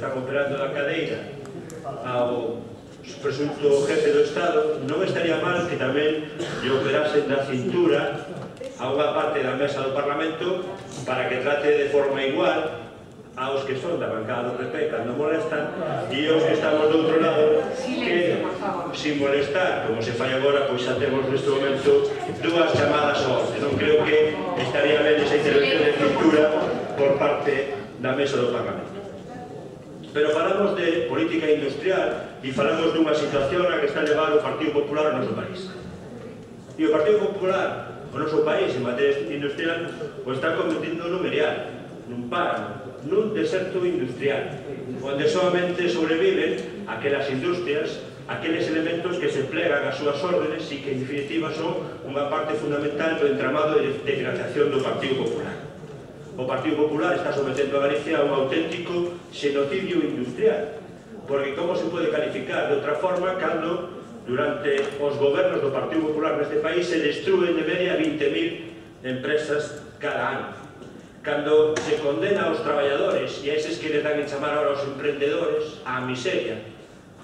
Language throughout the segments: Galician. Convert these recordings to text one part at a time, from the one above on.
están operando da cadeira ao presunto jefe do Estado, non estaría mal que tamén lle operasen da cintura a unha parte da mesa do Parlamento para que trate de forma igual aos que son da bancada do PP cando molestan e aos que estamos do outro lado que, sin molestar, como se fai agora, pois xa temos neste momento dúas chamadas ao orde. Non creo que estaría ben esa intervención de cintura por parte da mesa do Parlamento. Pero falamos de política industrial e falamos dunha situación a que está levado o Partido Popular ao noso país. E o Partido Popular, o noso país, en materia industrial, o está convertindo nun merial, nun páramo, nun deserto industrial, onde solamente sobreviven aquelas industrias, aqueles elementos que se plegan ás súas órdenes e que, en definitiva, son unha parte fundamental do entramado de financiación do Partido Popular. O Partido Popular está sometendo a Galicia a un auténtico xenocidio industrial, porque como se pode calificar de outra forma cando durante os gobernos do Partido Popular neste país se destruen de media 20.000 empresas cada ano, cando se condena aos traballadores e a eses que les dan en chamar ahora aos emprendedores á miseria,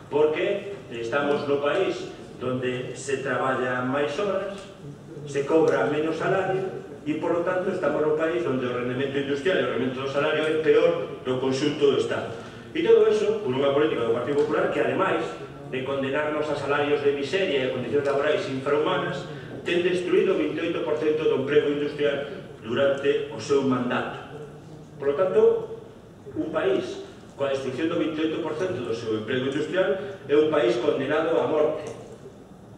porque estamos no país donde se traballa máis horas, se cobra menos salario e, por lo tanto, estamos no país onde o rendemento industrial e o rendemento do salario é peor do conxunto do Estado. E todo eso, por unha política do Partido Popular que, ademais de condenarnos a salarios de miseria e a condicións laborais infrahumanas, ten destruído o 28% do emprego industrial durante o seu mandato. Por lo tanto, un país coa destrucción do 28% do seu emprego industrial é un país condenado á morte.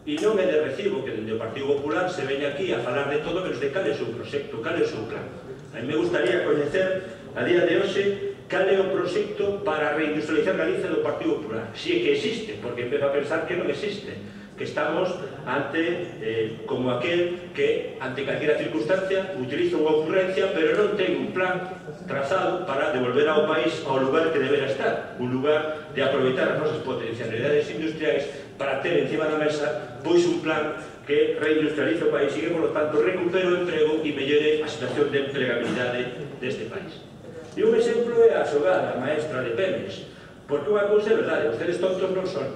E non é de recibo que dende o Partido Popular se veña aquí a falar de todo menos de cal é o seu proxecto, cal é o seu plan. A mí me gustaría coñecer a día de hoxe cal é o proxecto para reindustrializar Galicia do Partido Popular. Si é que existe, porque empezo a pensar que non existe, que estamos ante como aquel que, ante calquera circunstancia, utiliza unha ocurrencia, pero non ten un plan trazado para devolver ao país ao lugar que debera estar, un lugar de aproveitar as nosas potencialidades industriais para ter encima da mesa pois un plan que reindustrialice o país e que, por lo tanto, recupere o emprego e mellore a situación de empregabilidade deste país. E un exemplo é a xogada maestra de Pemex, porque unha cousa é verdade, ustedes tontos non son,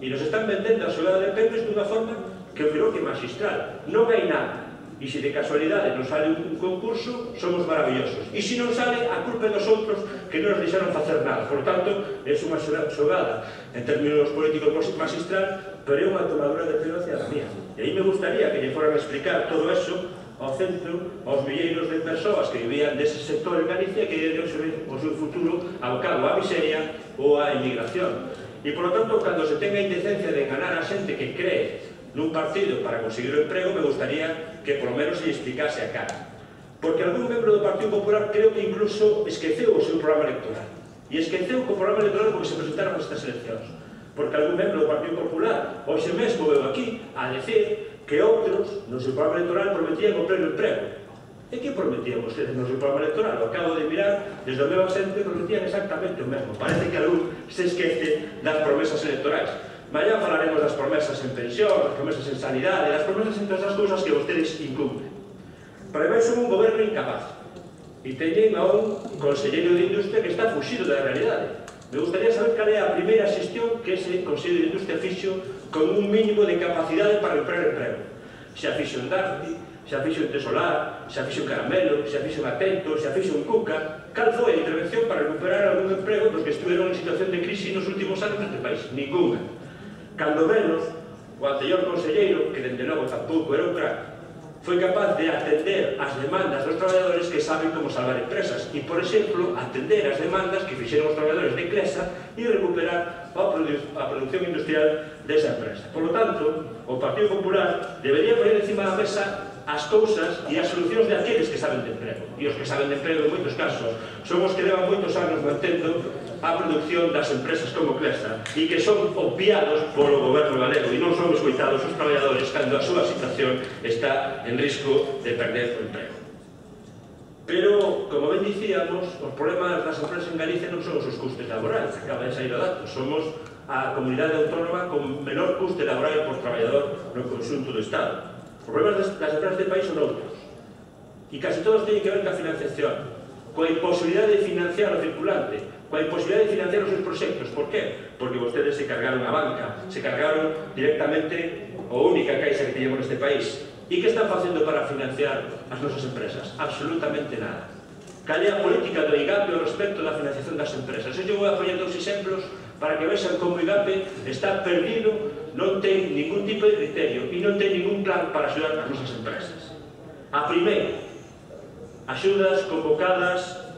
e nos están vendendo a xogada de Pemex dunha forma que eu creo que é magistral. Non hai nada, e se de casualidade non sale un concurso, somos maravillosos, e se non sale, a culpa é dos outros que non nos deixaron facer nada. Por tanto, é unha xogada en términos políticos magistral, pero é unha tomadura de pelo hacia a mía. E aí me gustaría que lle foran a explicar todo eso ao centro, aos milleiros de persoas que vivían dese sector en Galicia que debe ser o seu futuro abocado á miseria ou á emigración. E, por lo tanto, cando se tenga a indecencia de enganar a xente que cree nun partido para conseguir o emprego, me gustaría que por lo menos se explicase a cara. Porque algún membro do Partido Popular creo que incluso esqueceu o seu programa electoral. E esqueceu o programa electoral porque se presentaron estas eleccións. Porque algún membro do Partido Popular hoxe mesmo veu aquí a decir que outros no seu programa electoral prometían o pleno emprego. E que prometían vostedes no seu programa electoral? O acabo de mirar, desde o meu asento prometían exactamente o mesmo. Parece que algún se esquece das promesas electorais. Mañá falaremos das promesas en pensión, das promesas en sanidade, das promesas en todas as cousas que vostedes incumplen. Pero ademais son un goberno incapaz. E teñen a un conselleiro de Industria que está fuxido da realidade. Me gustaría saber cal é a primeira xestión que ese Consello de Industria fixo con un mínimo de capacidade para recuperar emprego. Se a fixo en Darti, se a fixo en Tesolar, se a fixo en Caramelo, se a fixo en Atento, se a fixo en Cuca. Cal foi a intervención para recuperar algún emprego dos que estuveron en situación de crise nos últimos anos neste país? Ninguna. Cando menos, o anterior conselleiro, que dende logo tampouco era un crack, foi capaz de atender as demandas dos traballadores que saben como salvar empresas e, por exemplo, atender as demandas que fixeron os traballadores de Clesa e recuperar a producción industrial desa empresa. Por lo tanto, o Partido Popular debería poner encima da mesa as cousas e as solucións de aqueles que saben de emprego. E os que saben de emprego, en moitos casos, son os que levan moitos anos mantendo a produción das empresas como Clesa e que son obviados polo goberno galego e non son escoitados os traballadores cando a súa situación está en risco de perder o emprego. Pero, como ben dicíamos, os problemas das empresas en Galicia non son os seus custes laborais, acaba de sair o dato, somos a comunidade autónoma con menor custe laboral por traballador no conxunto do Estado. Os problemas das empresas de país son outros e casi todos teñen que ver ca financiación. coa imposibilidade de financiar o circulante, coa imposibilidade de financiar os seus proxectos. Por qué? Porque vostedes se cargaron a banca, se cargaron directamente a única caixa que teñemos neste país. E que están facendo para financiar as nosas empresas? Absolutamente nada. Cal é a política do IGAPE ao respecto da financiación das empresas? Eu vou a poñer dous exemplos para que vexan como o IGAPE está perdido, non ten ningún tipo de criterio e non ten ningún plan para axudar as nosas empresas. A primeira, axudas convocadas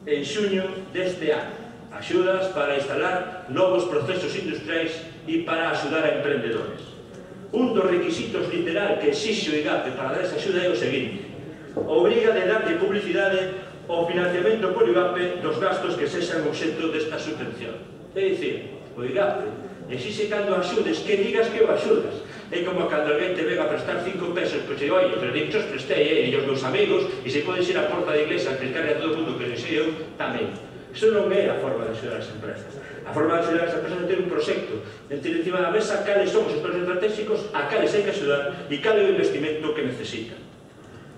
en xuño deste ano, axudas para instalar novos procesos industriais e para axudar a emprendedores. Un dos requisitos literal que exixe o IGAPE para dar esa axuda é o seguinte: obriga de darlle publicidade ao financiamento por IGAPE dos gastos que sexan obxecto desta subvención. É dicir, o IGAPE exixe cando axudes que digas que o axudas. É como cando alguén te venga a prestar 5 pesos, pois e oi, pero dichos prestei, e os meus amigos, e se podes ir á porta da iglesia a explicarle a todo o mundo que non sei eu, tamén. Iso non é a forma de axudar as empresas. A forma de axudar as empresas é ter un proxecto, de ter encima da mesa cales son os sectores estratégicos, a cales hai que axudar e cal é o investimento que necesitan.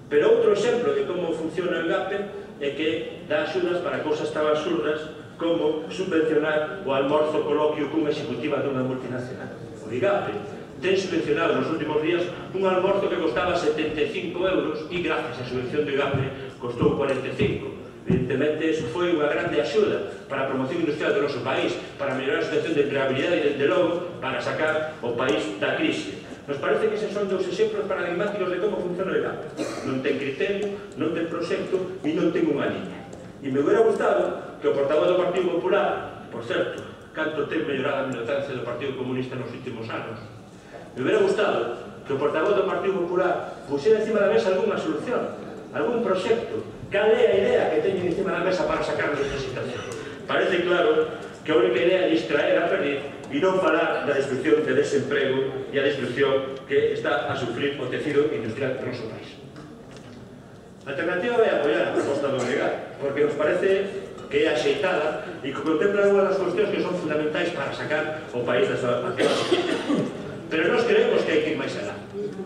Pero outro exemplo de como funciona o IGAPE é que dá axudas para cousas tan absurdas como subvencionar o almorzo coloquio cunha executiva dunha multinacional. O IGAPE ten subvencionado nos últimos días un almorzo que costaba 75 euros e gracias á subvención do IGAPE costou 45. Evidentemente, iso foi unha grande axuda para a promoción industrial do noso país, para mellorar a situación de empregabilidade e, desde logo, para sacar o país da crise. Nos parece que eses son dous exemplos paradigmáticos de como funciona o IGAPE. Non ten criterio, non ten proxecto e non ten unha liña. E me hubiera gustado que o portavoz do Partido Popular, por certo, canto ten mellorado a militancia do Partido Comunista nos últimos anos, me hubiera gustado que o portavoz do Partido Popular pusiera encima da mesa algunha solución, algún proxecto. Cal é a idea que teñen encima da mesa para sacarnos desta situación? Parece claro que a única idea é distraer a perder e non falar da destrucción de desemprego e a destrucción que está a sufrir o tecido industrial do noso país. A alternativa vai apoiar a proposta do IGAPE, porque nos parece que é axeitada e que contempla unha das cuestións que son fundamentais para sacar o país desta actual situación. Pero nós creemos que hai que ir máis alá.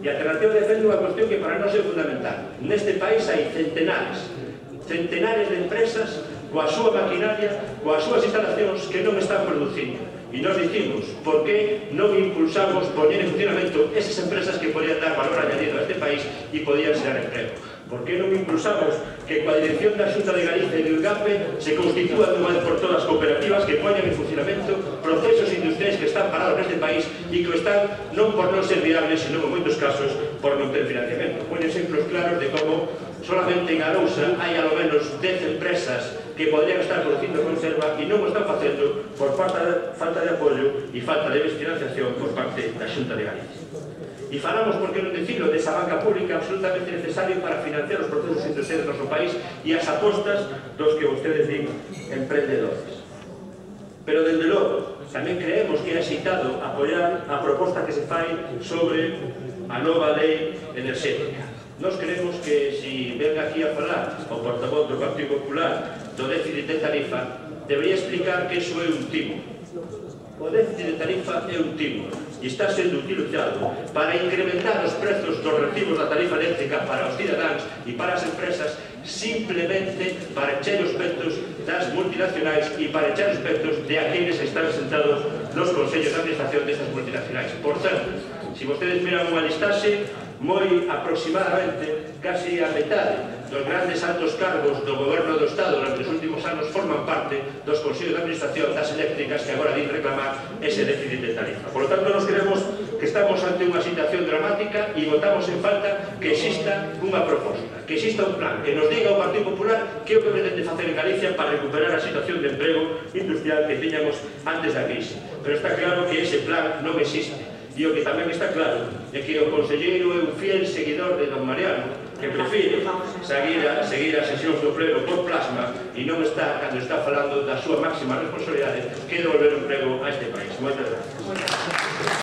E a alternativa defende unha cuestión que para nós é fundamental. Neste país hai centenares de empresas coa súa maquinaria, coas súas instalacións que non están producindo. E nós dicimos, por que non impulsamos poñer en funcionamento esas empresas que podían dar valor añadido a este país e podían xerar emprego? Por que non impulsamos que coa dirección da Xunta de Galicia e do IGAPE se constitúan dunha vez por todas cooperativas que poñan en funcionamento procesos industriais que están parados neste país e que están non por non ser viables, sino en moitos casos por non ter financiamento? Poñen exemplos claros de como solamente en Arousa hai alo menos 10 empresas que podrían estar producindo conserva e non o están facendo por falta de apoio e falta de financiación por parte da Xunta de Galicia. E falamos, por que non dicilo, desa banca pública absolutamente necesaria para financiar os procesos industriais do noso país e as apostas dos que vostedes din emprendedores. Pero, dende logo, tamén creemos que é axeitado apoiar a proposta que se fai sobre a nova lei enerxética. Nós creemos que, se ven aquí a falar o portavoz do Partido Popular do déficit de tarifa, debería explicar que iso é un timo. O déficit de tarifa é un timo e está sendo utilizado para incrementar os prezos dos recibos da tarifa eléctrica para os cidadáns e para as empresas, simplemente para echar os petos das multinacionais e para echar os petos de aqueles que están sentados nos consellos de administración destas multinacionais. Por certo, se vostedes miran unha listaxe, moi aproximadamente, casi a metade dos grandes altos cargos do goberno do Estado durante os últimos anos forman parte dos consellos de administración das eléctricas que agora din reclamar ese déficit de tarifa. Por lo tanto, nos creemos que estamos ante unha situación dramática e votamos en falta que exista unha proposta, que exista un plan, que nos diga o Partido Popular que é o que pretende facer en Galicia para recuperar a situación de emprego industrial que tiñamos antes da crise. Pero está claro que ese plan non existe. E o que tamén está claro é que o conselleiro é un fiel seguidor de don Mariano, que prefire seguir as sesións do pleno por plasma e non está, cando está falando da súa máxima responsabilidade, que devolver o emprego a este país. Moitas gracias.